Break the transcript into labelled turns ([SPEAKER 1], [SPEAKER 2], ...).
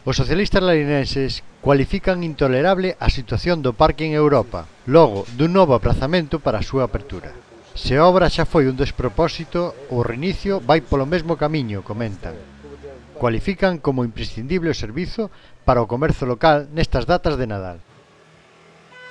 [SPEAKER 1] Os socialistas larinenses cualifican intolerable a situación do parque en Europa, logo dun novo aprazamento para a súa apertura. Se a obra xa foi un despropósito, o reinicio vai polo mesmo camiño, comentan. Cualifican como imprescindible o servizo para o comercio local nestas datas de Nadal.